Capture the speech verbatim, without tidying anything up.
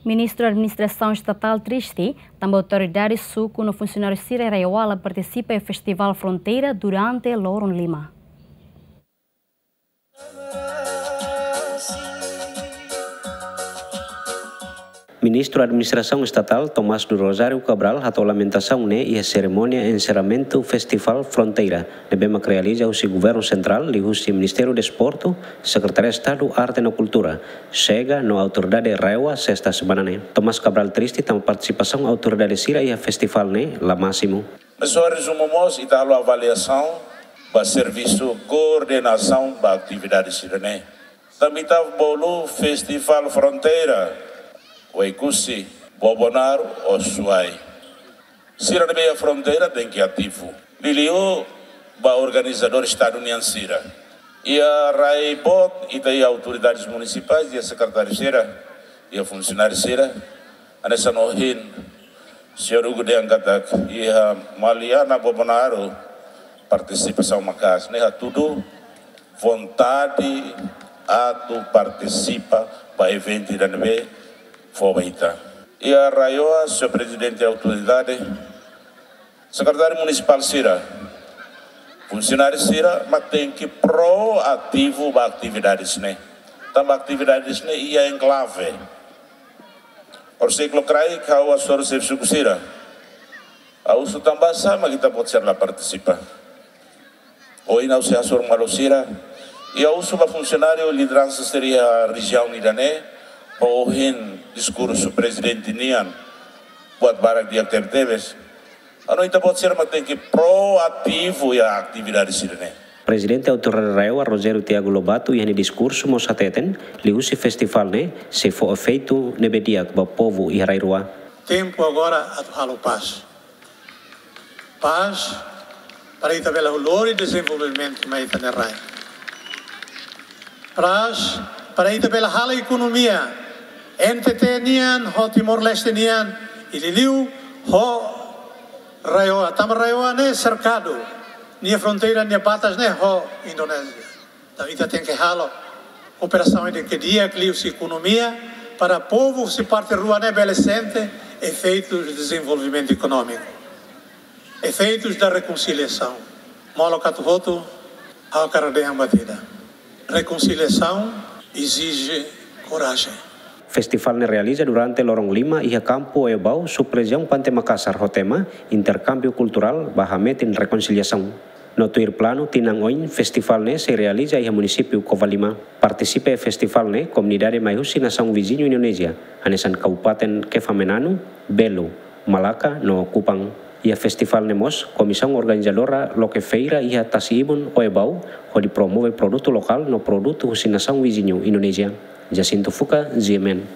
Ministru Administrasaun Estatál triste tanba autoridade suku no funsionáriu sira RAEOA la partisipa iha Festivál Fronteira durante loron lima. Ministru Administrasaun Estatál Tomás do Rosário Cabral hato'o lamentasaun ne'e iha serimónia enserramentu Festivál Fronteira ne'ebé mak realiza husi Governu Sentrál liuhusi Ministériu Desportu, Sekretaria Estadu Arte no Kultura, SEGA no autoridade RAEOA sesta semana ne'e. Tomás Cabral triste tanba partisipasaun autoridade sira iha festivál ne'e la másimu. Mas só rezumu mós, ita halo avaliasaun ba servisu koordenasaun ba atividade sira-ne'e. Tanba ita bolu Festivál Fronteira, Oekusi, Bobonaro, Osuai. Sira ne'ebé iha fronteira tenke ativu. Liuliu ba organizadór Estadu nian sira. Iha rai boot, ita iha autoridades munisipais, iha sekretáriu sira, iha funsionáriu sira. Hanesan ohin señór Hugo dehan katak iha Maliana, Bobonaro, partisipasaun maka'as. Ne'e hatudu vontade atu partisipa ba eventu ida ne'ebé fó ba ita. Iha RAEOA, señór prezidente autoridade, sekretáriu munisipál sira, funsionáriu sira, mak tenke proativu ba atividades ne'e. Tanba atividades ne'e iha enklave. Orsida lokraik ha'u hasoru xefe suku sira. Ha'u husu tanbasá mak ita-boot sira la partisipa. Ohin ha'u sei hasoru malu sira. I ha'u husu ba funsionáriu lideransa sira iha rejiaun ida-ne'e, ba ohin diskursu prezidente nian, buat barak di'ak tebetebes. Entaun ita-boot sira mak tenke proativu iha atividade sira-ne'e. Prezidente Autoridade RAEOA Rogério Tiago Lobato iha nia diskursu mós hateten, liuhusi festivál ne'e sei fó efeitu ne'ebé di'ak ba povu iha rai rua. Tempu agora atu halo pás. Pás para ita bele lori dezenvolvimentu mai ita-nia rai. Pás para ita bele halo ekonomia N T T nian ho Timor-Leste nian, i liuliu ho RAEOA, tanba RAEOA ne'e serkadu, nia fronteira, nia batas ne'e ho Indonézia. Entaun ita tenke halo kooperasaun ida ke di'ak liuhusi ekonomia para povu husi parte rua ne'e bele sente efeitus dezenvolvimentu ekonómiku, efeitus da rekonsiliasaun. Molok atu hotu, ha'u hakarak dehan ba ita: rekonsiliasaun ezije korajen. Festivál ne'e realiza durante loron lima iha kampu Oiabau, subrejiaun Pante Makasar, ho tema Interkámbiu Kulturál ba Hametin Rekonsiliasaun. No tuir planu, tinan oin festivál ne'e sei realiza iha munisípiu Covalima. Partisipa iha festivál ne'e komunidade mai husi nasaun viziñu Indonézia, hanesan Kabupaten Kefamenanu, Belo, Malaka no Kupang. Iha festivál ne'e mós, komisaun organizadora loke feira iha tasi-ibun Oiabau, hodi promove produtu lokál no produtu husi nasaun viziñu Indonézia. Jacinto Fuca, G M N.